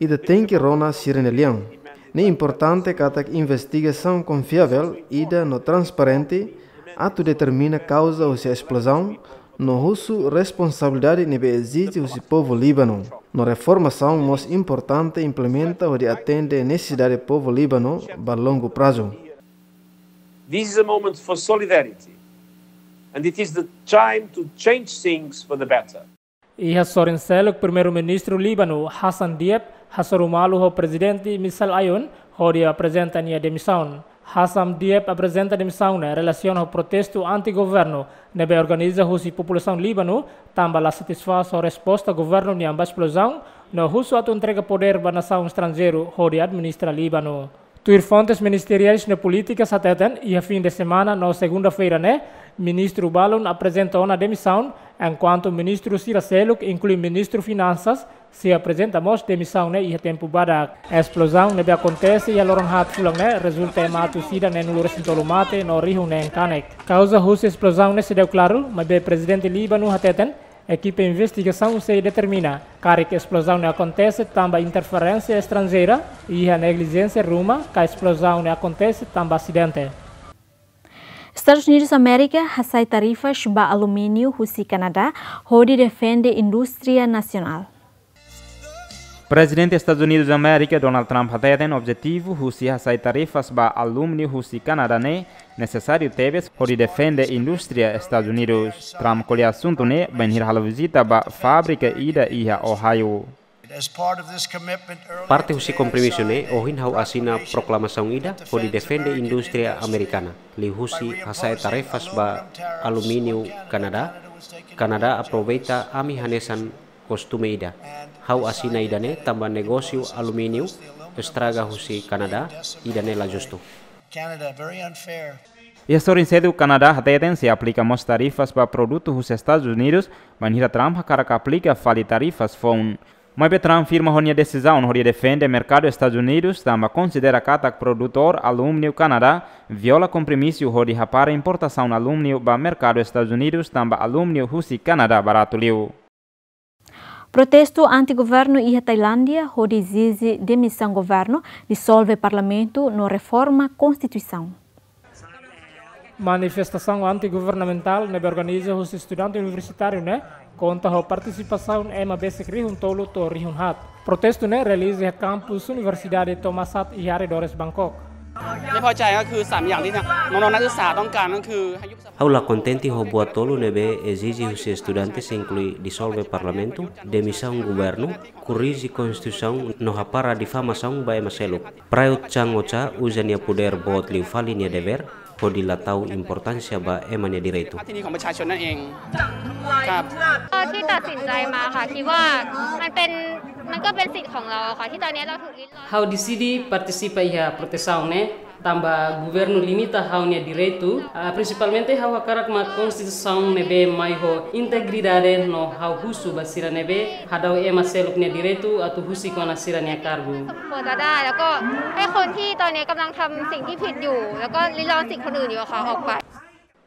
ita tenke rona sira-nia lian. Ne'e importante katak investigasaun konfiavel ida no transparente atu determina kauza husi esplozaun, no husu responsabilidade ne'ebé ezije husi povu Líbanu. No reformasaun mós importante implementa hodi atende nesesidade povu Líbanu ba longu prazu. This is a moment for solidarity, and it is the time to change things for the better. Iha sorin seluk, Primeiru-Ministru Líbanu, Hassan Diab, hasoru malu ho Prezidente Michel Aoun hodi aprezenta nia demisaun. Hassan Diab aprezenta demisaun ne'e relasiona ho protestu anti-governu ne'ebé organiza husi populasaun Líbanu, tanba la satisfás ho resposta governu nian ba esplozaun, no husu atu entrega podér ba nasaun estranjeiru hodi administra Líbanu. Tuir fontes ministeriais no polítikas hateten, iha fin de semana no segunda-feira ne'e, ministru balun aprezenta ona demisaun, enkuantu ministru sira seluk, inklui ministru finansas, sei aprezenta mós demisaun ne'e iha tempu badak. Esplozaun ne'ebé akontese iha loron haat fulan ne'e rezulta ema atus ida neenulu-resin-tolu mate no rihun neen kanek. Kauza husi esplozaun ne'e seidauk klaru, maibé Prezidente Líbanu hateten, ekipa investigasaun sei determina karik esplozaun ne'e akontese tanba interferénsia estranjeira, iha neglijénsia ruma, ka esplozaun ne'e akontese tanba asidente. Estadus Unidus Amérika hasai tarifas ba alumíniu husi Kanadá hodi defende indústria nasionál. Prezidente Estadus Unidus Amérika, Donald Trump, hateten objetivu husi hasai tarifas ba alumíniu husi Kanadá ne'e nesesáriu tebes hodi defende indústria Estadus Unidus. Trump ko'alia asuntu ne'e bainhira halo vizita ba fábrika ida iha Ohio. As part of this commitment earlier Parte husi today, I kompromisu ne'e, signed ohin ha'u asina proklamasaun ida hodi defende indústria amerikana liuhusi hasa'e tarifas ba alumíniu Kanadá. Kanadá aproveita ami hanesan kostume ida. Ha'u asina ida-ne'e tanba negósiu alumíniu estraga husi Kanadá, ida-ne'e la justu. Canada, very unfair. Iha sorin seluk, Kanadá hateten sei aplika mós tarifas ba produtu husi Estadus Unidus, bainhira Trump hakarak aplika fali tarifas foun. Maibé Trump firma ho nia desizaun hodi defende merkadu Estadus Unidus, tanba konsidera katak produtór alumíniu Kanadá viola kompromisu hodi hapara importasaun alumíniu ba merkadu Estadus Unidus, tanba alumíniu husi Kanadá baratu liu. Protestu anti-governu iha Tailándia hodi ezije demisaun governu, disolve parlamentu no reforma konstituisaun. Manifestasaun anti-governamentál ne'ebé organiza husi estudante universitáriu ne'e konta ho partisipasaun ema besik rihun tolu to'o rihun haat. Protestu ne'e realiza iha kampus Universidade Thammasat iha arredores Bangkok. ไม่พอใจก็คือสามอย่างที่น้องๆนักศึกษาต้องการก็คือให้ยุบสภา Ha'u la kontente ho buat tolu ne'ebé ezije husi estudantes, inklui disolve parlamentu, demisaun governu, korrije konstituisaun no hapara difamasaun ba ema seluk. Prayut Chan-o-cha uza nia podér boot liu fali nia devér, hodi la tau importánsia ba ema nia direitu. ท่าทีของประชาชนนั่นเองครับ ก็ที่ตัดสินใจมาค่ะ คิดว่ามันเป็น มันก็เป็นสิทธิ์ของเราอะค่ะ ที่ตอนนี้เราถูกริดรอน Ha'u deside partisipa iha protesaun ne'e, tanba governu limita ha'u-nia direitu. Ah, prinsipalmente ha'u hakarak mak konstituisaun ne'ebé mai ho integridade no ha'u husu ba sira ne'ebé hadau ema seluk nia direitu atu husik ona sira-nia kargu. สมควรจะได้ แล้วก็ให้คนที่ตอนนี้กำลังทำสิ่งที่ผิดอยู่ แล้วก็ริดรอนสิทธิ์คนอื่นอยู่อะค่ะ ออกไป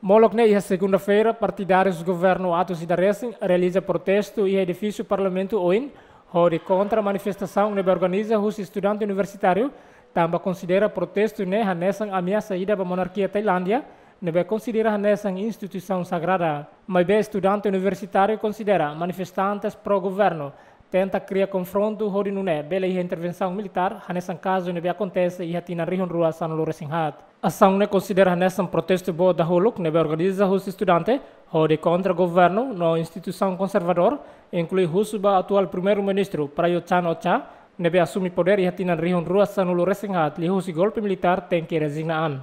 Molok ne'e, iha segunda-feira, partidárius governu atus ida resin realiza protestu iha edifísiu Parlamentu oin, hodi kontra manifestasaun ne'ebé organiza husi estudante universitáriu, tanba konsidera protestu ne'e hanesan ameasa ida ba monarkia Tailándia, ne'ebé konsidera hanesan instituisaun sagrada. Maibé estudante universitáriu konsidera manifestantes pró-governu tenta kria konfrontu hodi nune'e bele iha intervensaun militár, hanesan kazu ne'ebé akontese iha tinan rihun rua sanulu resin haat. Asaun ne'e konsidera hanesan protestu boot dahuluk ne'ebé organiza husi estudante hodi kontra governu no instituisaun konservadór, inklui husu ba atuál Primeiru-Ministru Prayut Chan-o-cha, ne'ebé asume podér iha tinan rihun rua sanulu resin haat liuhusi golpe militár tenke rezigna an.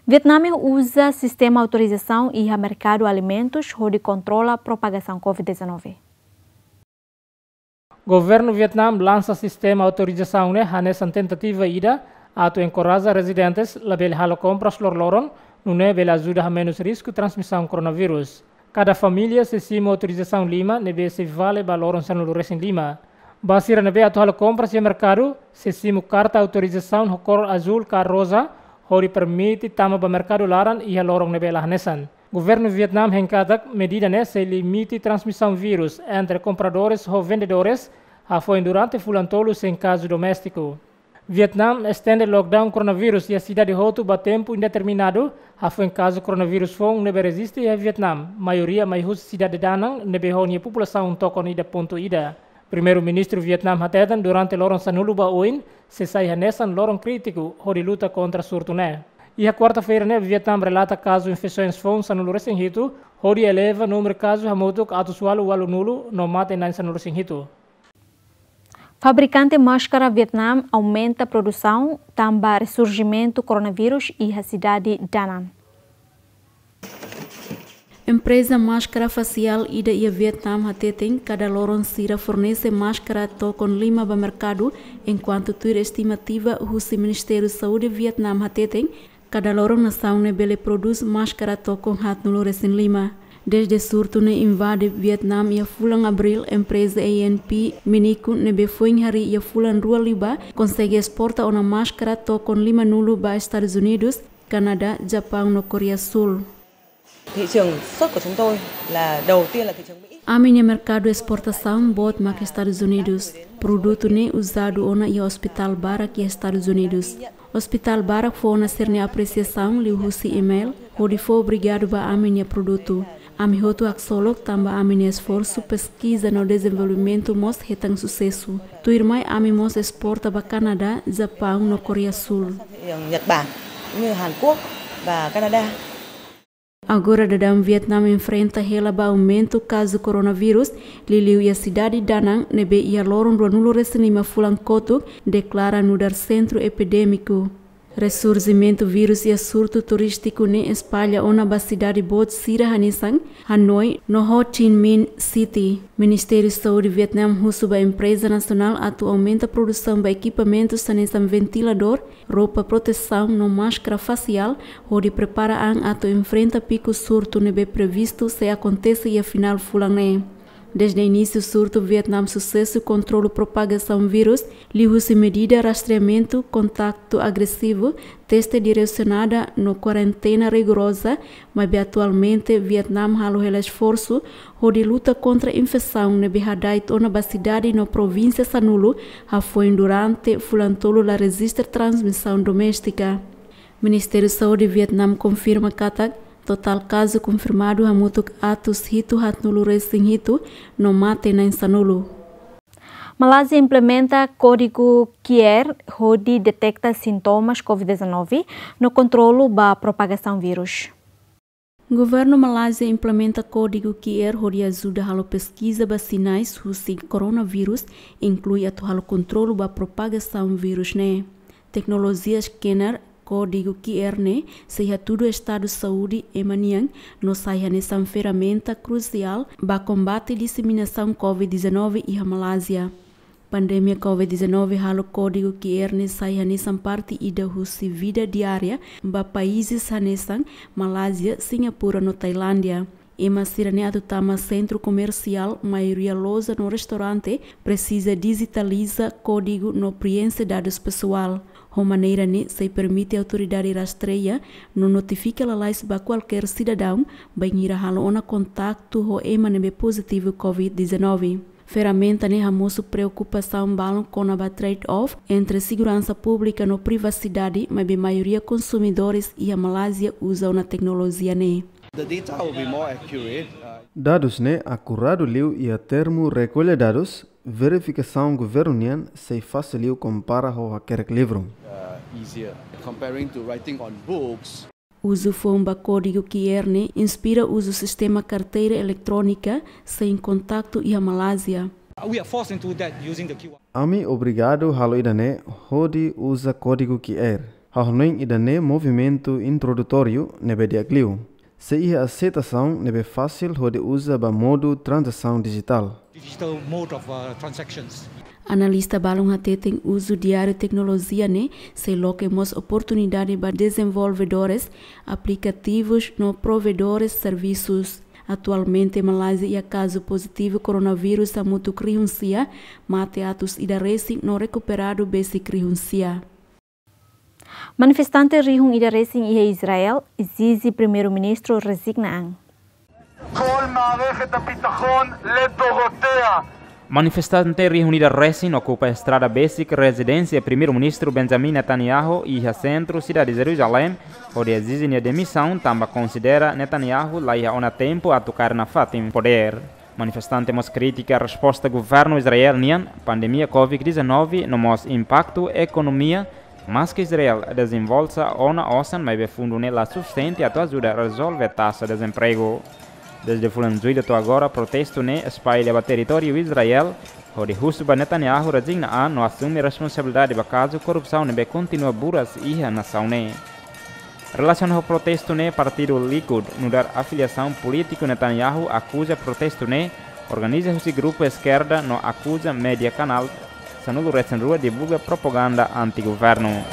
Vietname uza sistema autorizasaun iha merkadu alimentus hodi kontrola propagasaun covid dezanove. Governu Vietname lansa sistema autorizasaun ne'e hanesan tentativa ida atu enkoraja rezidentes labele halo kompras loroloron, nune'e bele ajuda hamenus risku transmisaun koronavírus. Kada família sei simu autorizasaun lima ne'ebé sei vale ba loron sanulu resin lima. Ba sira ne'ebé atu halo kompras iha merkadu, sei simu karta autorizasaun ho kór azúl ka roza, hodi permite tama ba merkadu laran iha loron ne'ebé la hanesan. Governu Vietname hein katak medida ne'e sei limita transmisaun vírus entre kompradores ho vendedores, hafoin durante fulan tolu sein kazu doméstiku. Vietname estende lockdown koronavírus iha sidade hotu ba tempu indeterminadu, hafoin kazu koronavírus foun ne'ebé rejista iha Vietname, maioria mai husi sidade Da Nang ne'ebé ho nia populasaun tokon ida pontu ida. Primeiru-Ministru Vietname hateten durante loron sanulu ba oin sei sai hanesan loron krítiku hodi luta kontra surtu ne'e. Iha kuarta-feira ne'e Vietname relata kazu infesoens foun sanulu resin hitu, hodi eleva númeru kazu hamutuk atus ualu ualunulu no mate na'in sanulu resin hitu. Fabrikante máskara Vietname aumenta produsaun tanba resurjimentu koronavírus iha sidade Da Nang. Empreza máskara fasiál ida iha Vietname hateten kada loron sira fornese máskara tokon lima ba merkadu, enkuantu tuir estimativa husi Ministériu Saúde Vietname hateten kada loron nasaun ne'e bele prodús máskara tokon haatnulu resin lima. Dezde surtu ne'e invade Vietname iha fulan Abríl, empreza A N P Minico ne'ebé foin harii iha fulan rua liubá konsege esporta ona máskara tokon limanulu ba Estadus Unidus, Kanadá, Japaun no Koreia Súl. Thị trường xuất của chúng tôi là đầu tiên là thị trường Mỹ. Ami-nia merkadu esportasaun boot mak Estadus Unidus. Produtu ne'e uzadu ona iha ospitál barak iha Estadus Unidus. Ospitál barak fó ona sira-nia apresiasaun liuhusi email, hodi fó obrigadu ba ami-nia produtu. Ami hotu haksolok tanba ami-nia esforsu peskiza no dezenvolvimentu mós hetan susesu. Tuirmai ami mós esporta ba Kanadá, Japaun no Koreia Súl. Thị trường Nhật Bản, cũng như Hàn Quốc và Canada. Agora daudaun Vietname enfrenta hela ba aumentu kazu koronavírus, liuliu iha sidade Da Nang ne'ebé iha loron ruanulu resin lima fulan kotuk deklara nu'udar sentru epidémiku. Resurjimentu vírus iha surtu turístiku ne'e espalla ona ba sidade boot sira hanesan Hanoi no Ho Chi Minh City. Ministériu Saúde Vietname husu ba empreza nasionál atu aumenta produsaun ba ekipamentus hanesan ventiladór, roupa protesaun no máskara fasiál, hodi prepara an atu enfrenta piku surtu ne'ebé previstu sei akontese iha finál fulan ne'e. Dezde inísiu surtu Vietname susesu kontrola propagasaun vírus, liuhusi medida rastreamentu, kontaktu agresivu, teste diresionada no kuarentena rigoroza, maibé atualmente Vietname halo hela esforsu hodi luta kontra infesaun ne'ebé hada'et ona ba sidade no provínsia sanulu, hafoin durante fulan tolu la rejista transmisaun doméstika. Ministériu Saúde Vietname konfirma katak totál kazu konfirmadu hamutuk atus hitu haatnulu resin hitu no mate na'in sanulu. Malázia implementa kódigu Q R hodi deteta sintomas covid dezanove no kontrola ba propagasaun vírus. Governu Malázia implementa kódigu Q R hodi ajuda halo peskiza ba sinais husi koronavírus, inklui atu halo kontrola ba propagasaun vírus ne'e. Teknolojia scanner kódigu Q R ne'e sei hatudu estadu saúde ema nian no sai hanesan ferramenta krusiál ba kombate diseminasaun covid dezanove iha Malázia. Pandemia covid dezanove halo kódigu Q R ne'e sai hanesan parte ida husi vida diária ba países hanesan Malázia, Singapura no Tailándia. Ema sira ne'e atu tama sentru komersiál, maioria loja no restaurante, presiza dijitaliza kódigu no preenxe dadus pesoál. Ho maneira ne'e sei permite autoridade rastreia no notifika lalais ba kualkér sidadaun bainhira halo ona kontaktu ho ema ne'ebé pozitivu covid dezanove. Ferramenta ne'e hamosu preokupasaun balun kona-ba trade-off entre seguransa públika no privasidade, maibé maioria konsumidores iha Malázia uza ona teknolojia ne'e. The data will be more accurate, uh, Dadus ne'e akuradu liu iha termu rekolla dadus, Verifikasaun governu nian sei fasil liu kompara ho hakerek livru. Uh, easier comparing to writing on books. Uzu foun ba kódigu Q R ne'e inspira uzu sistema karteira eletrónika sein kontaktu iha Malázia. We are forced into that using the Q R. Ami obrigadu halo ida-ne'e hodi uza kódigu Q R. Ha'u hanoin ida-ne'e movimentu introdutóriu ne'ebé di'ak liu. Sei iha aseitasaun ne'ebé fasil hodi uza ba modu tranzasaun dijitál. Digital mode of, uh, transactions. Analista balun hateten uzu diáriu teknolojia ne'e sei loke mós oportunidade ba dezenvolvedores aplikativus no provedores servisus. Atualmente, Malázia iha kazu pozitivu koronavírus hamutuk rihun sia, mate atus ida resin no rekuperadu besik rihun sia. Manifestante rihun ida resin iha Israel ezije Primeiru-Ministru rezigna an. כל מערכת הביטחון לדורותיה. Manifestante rihun ida resin okupa estrada besik rezidénsia Primeiru-Ministru Benjamin Netanyahu iha sentru sidade Jerusalém, hodi ezije nia demisaun tanba konsidera Netanyahu la iha ona tempu atu kaer nafatin podér. Manifestante mós kritika resposta governu Israel nian pandemia covid dezanove no mós impaktu ekonomia, maske Israel dezenvolve ona osan maibé fundu ne'e la sufisiente atu ajuda rezolve taxa dezempregu. Dezde fulan Jullu to'o agora protestu ne'e espalla ba territóriu Israel, hodi husu ba Netanyahu rezigna an no asume responsabilidade ba kazu korrupsaun ne'ebé kontinua buras iha nasaun ne'e. Relasiona ho protestu ne'e, partidu Likud, nu'udar afiliasaun polítiku Netanyahu, akuza protestu ne'e organiza husi grupu eskerda no akuza média kanál sanulu resin rua divulga propaganda anti-governu.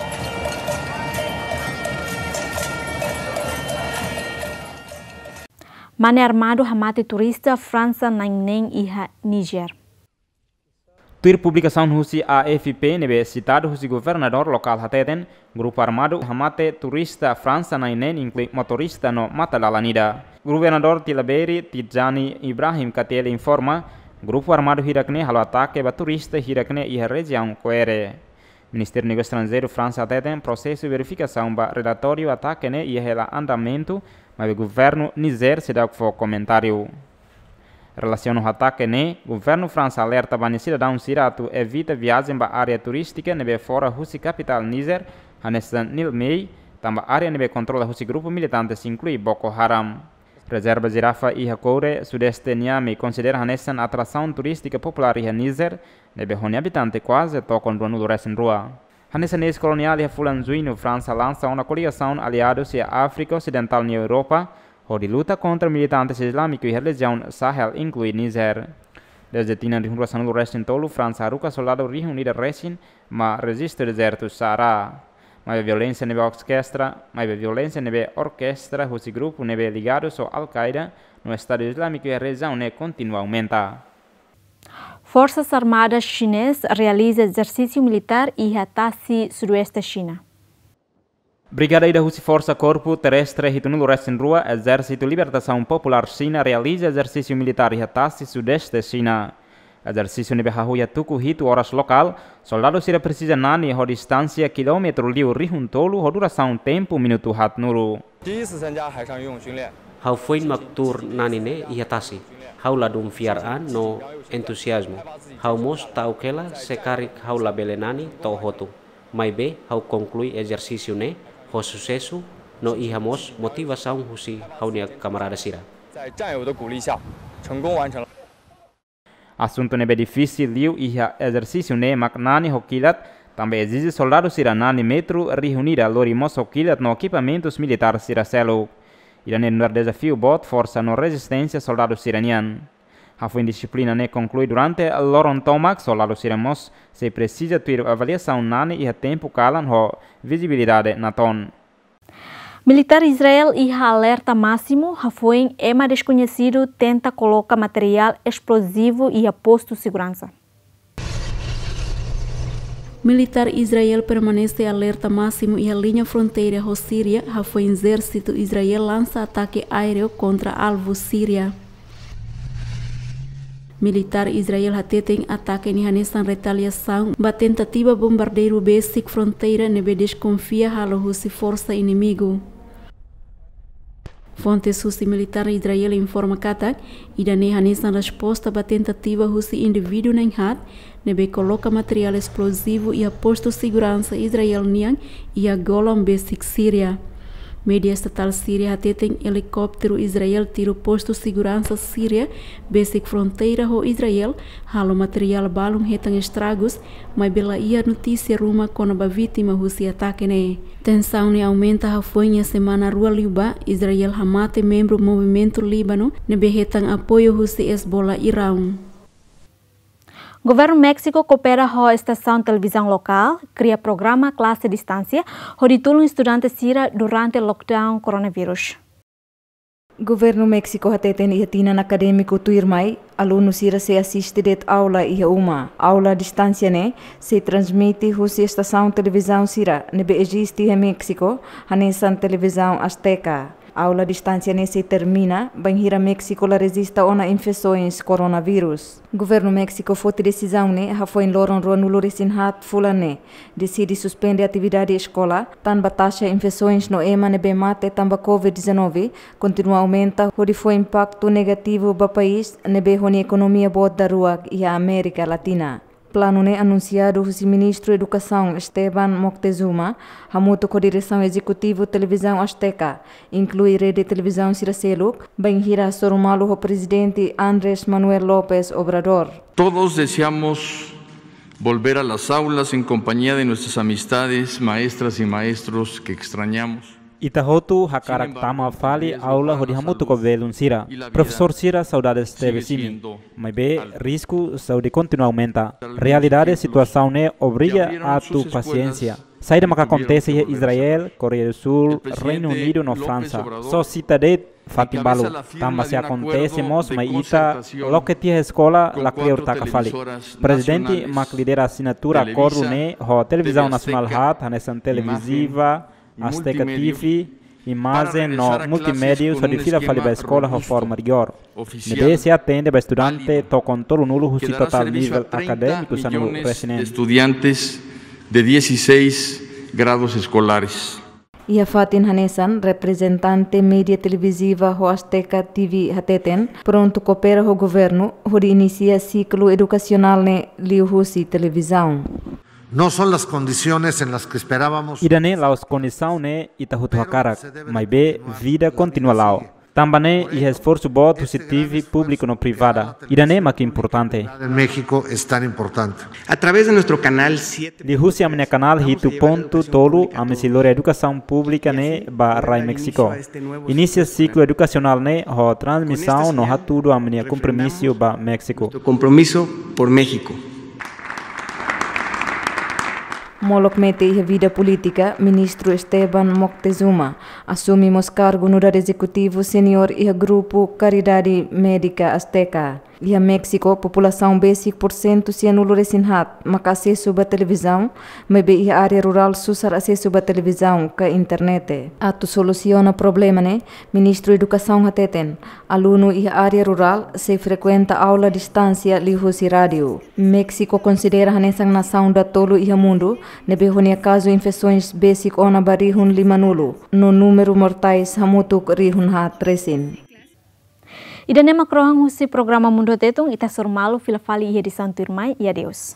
Mane armadu hamate turista Fransa na'in neen iha Niger. Tuir publikasaun husi A F P ne'ebé sitadu husi governadór lokál hateten, grupu armadu hamate turista Fransa na'in neen inklui motorista no matadalan ida. Governadór Tillabéri Tidjani Ibrahim Kateli informa, grupu armadu hirak ne'e halo atake ba turista hirak ne'e iha rejiaun Kouéré. Ministériu Negósiu Estranjeiru Fransa hateten prosesu verifikasaun ba relatóriu atake ne'e iha hela andamentu, maibé governu Niger seidauk fó komentáriu. Relasiona ho atake ne'e, governu Fransa alerta ba nia sidadaun sira atu evita viajen ba área turístika ne'ebé fora husi kapitál Niger, hanesan Niamey, tanba área ne'ebé kontrola husi grupu militante sei inklui Boko Haram. Rezerva Jirafa iha Kouéré, sudeste Niamey, konsidera hanesan atrasaun turístika populár iha Niger, ne'ebé ho nia abitante kuaze tokon ruanulu resin rua. Hanesan eis-koloniál iha fulan Juñu, Fransa lansa ona koligasaun aliadus iha Áfrika Osidentál no Europa, hodi luta kontra militantes islámiku iha rejiaun Sahel, inklui Niger. Dezde tinan rihun rua sanulu resin tolu, Fransa haruka soldadu rihun ida resin mai rejistu dezertu Saara. Maibé violénsia ne'ebé orkestra, maibé violénsia ne'ebé orkestra husi grupu ne'ebé ligadus ho Al-Qaeda no Estadu Islámiku iha rejiaun ne'e kontinua aumenta. Forsas Armadas Xinesa realiza ezersísiu militár iha tasi sudoeste Xina. Brigada ida husi Forsa Korpu Terrestre hitunulu resin rua, Ezérsitu Libertasaun Populár Xina realiza ezersísiu militár iha tasi sudeste Xina. Ezersísiu ne'ebé hahú iha tuku hitu oras lokál, soldadu sira presiza nani ho distánsia kilómetru liu rihun tolu ho durasaun tempu minutu haatnulu. 第一次参加海上游泳训练。 Ha'u foin mak tuur nani ne'e iha tasi. Ha'u ladún fiar an no entuziazmu. Ha'u mós ta'uk hela se karik ha'u labele nani to'o hotu. Maibé ha'u konklui ezersísiu ne'e ho susesu no iha mós motivasaun husi ha'u-nia kamarada sira. 在战友的鼓励下，成功完成了。 Asuntu ne'ebé difisil liu iha ezersísiu ne'e mak nani ho kilat, tanba ezije soldadu sira nani metru rihun ida lori mós ho kilat no ekipamentus militár sira seluk. Ida-ne'e nu'udar dezafiu boot forsa no rezisténsia soldadu sira-nian. Hafoin dixiplina ne'e konklui durante loron tomak, soldadu sira mós sei presiza tuir avaliasaun nani iha tempu kalan ho vizibilidade natoon. Militár Israel iha alerta másimu, hafoin ema deskoñesidu tenta koloka materiál esplozivu iha postu seguransa. Militár Israel permanese alerta másimu iha liña fronteira ho Síria, hafoin ezérsitu Israel lansa atake aéreu kontra alvu Síria. Militár Israel hateten atake ne'e hanesan retaliasaun ba tentativa bombardeiru besik fronteira ne'ebé deskonfia halo husi forsa inimigu. Fontes husi militár Israel informa katak, ida-ne'e hanesan resposta ba tentativa husi indivíduu na'in-haat ne'ebé koloka materiál esplozivu iha postu seguransa Israel nian iha Golan besik Síria. Média estatál Síria hateten elikópteru Israel tiru postu seguransa Síria besik fronteira ho Israel, halo materiál balun hetan estragus, maibé la iha notísia ruma kona-ba vítima husi atake ne'e. Tensaun ne'e aumenta hafoin iha semana rua liubá, Israel hamate membru Movimentu Líbanu ne'ebé hetan apoiu husi Hezbollah Iraun. Governu Méxiku koopera ho estasaun televizaun lokál, kria programa klase distánsia, hodi tulun estudante sira durante lockdown koronavírus. Governu Méxiku hateten iha tinan akadémiku tuirmai, alunu sira sei asiste de'it aula iha uma. Aula distánsia ne'e sei transmite husi estasaun televizaun sira ne'ebé eziste iha Méxiku, hanesan televizaun Azteca. Aula distánsia ne'e sei termina bainhira Méxiku la rejista ona infesoens koronavírus. Governu Méxiku foti desizaun ne'e hafoin loron ruanulu-resin-haat fulan ne'e, deside suspende atividade eskola, tanba taxa infesoens no ema ne'ebé mate tanba covid dezanove kontinua aumenta, hodi fó impaktu negativu ba país ne'ebé ho nia ekonomia boot daruak iha Amérika Latina. Planu ne'e anunsiadu husi Ministru Edukasaun Esteban Moctezuma, hamutuk ho diresaun ezekutivu televizaun Azteca, inklui rede televizaun sira seluk, bainhira hasoru malu ho Prezidente Andrés Manuel López Obrador. Todos deseamos volver a las aulas en compañía de nuestras amistades, maestras y maestros que extrañamos. Ita hotu hakarak tama fali aula hodi hamutuk ho belun sira. Profesór sira saudades tebes imi. Maibé risku saúde kontinua aumenta. Realidade situasaun ne'e obriga atu pasiénsia. Saida maka akontese iha Israel, Koreia do Sul, Reinu Unidu no Fransa? Só sita de'it fatin balu. Tanba se akontese mós mai ita, loke tiha eskola, la kleur taka fali. Prezidente mak lidera asinatura akordu ne'e ho televizaun nasionál haat, hanesan televiziva, Azteca T V, imajen no multimédia, hodi fila fali ba eskola ho forma rigór. Ne'ebé sei atende ba estudante to'o tolunulu husi totál nivel akadémiku sanulu-resin-neen. Estudiantes de dieciséis grados escolares. Iha fatin hanesan, reprezentante média televiziva ho Azteca T V hateten, prontu koopera ho governu hodi inisia siklu edukasionál ne'e liuhusi televizaun. No son las condiciones en las que esperábamos. Ida-ne'e la'ós kondisaun ne'e ita hotu hakarak, maibé vida kontinua la'o. Tanba ne'e iha esforsu boot husi T V públiku no privada. Ida-ne'e mak importante. En México es tan importante. A través de nuestro canal siete. Liuhusi ami-nia kanál hitu pontu tolu, ami sei lori edukasaun públika ne'e ba rai Méxiku. Inisia siklu edukasionál ne'e ho transmisaun no hatudu ami-nia kompromisu ba Méxiku. Nuestro compromiso por México. Molok mete iha vida polítika, Ministru Esteban Moctezuma asume mós kargu nu'udar ezekutivu seniór iha grupu Karidade Médika Azteca. Iha Méxiku, populasaun besik pursentu sianulu-resin-haat maka asesu ba televizaun, maibé iha área rurál susar asesu ba televizaun ka internet. Atu solusiona problema ne'e, Ministru Edukasaun hateten, alunu iha área rurál sei frekuenta aula distánsia liuhusi rádiu. Méxiku konsidera hanesan nasaun datolu iha mundu ne'ebé ho nia kazu infesoens besik ona ba rihun limanulu, no númeru mortais hamutuk rihun haat resin. Ida-ne'e mak rohan husi programa Mundu Tetun, ita hasoru malu fila fali iha edisaun tuirmai, i adeus.